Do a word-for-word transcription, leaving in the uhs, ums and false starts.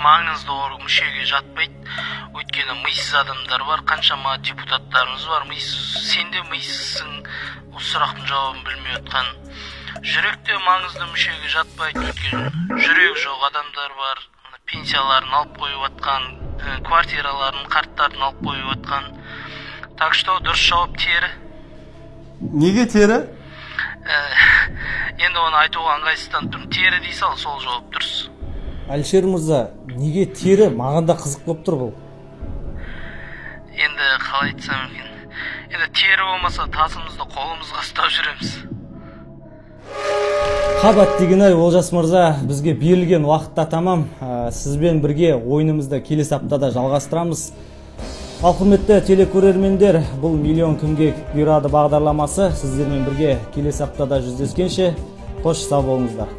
маңыздуу мүшөгө жатпайт. Өйткөнү мыйсыз адамдар бар, канчама депутаттарыбыз бар. Мыйсыз, сен де мыйсызсың. Бул сурактын жообун билмей аткан. Жүрөк те маңыздуу мүшөгө жатпайт. Өйткөнү жүрөк жок адамдар бар. Пенсияларын алып коюп аткан, квартираларын, карттарын алып коюп аткан. Так что дұрыс жооп тери. Неге тери? Енді оны айтуға ыңгайсызданып тұрмын. Тери дей сал, сол жооп дұрыс. Алишер мырза, неге тери? Маған да қызық болып тұр бұл. Енді қалай айтсам екен. Енді тери болмаса тасымызды қолымызға ұстап жүреміз. Қабат деген-ай, Олжас мырза, бізге берілген уақытта тамам. Сізбен бірге ойынымызды келесі аптада жалғастырамыз. Ал құрметті телекөрермендер, бұл миллион кімге бұйырады бағдарламасы сіздермен бірге келесі аптада жүздескенше қош сау болыңыздар.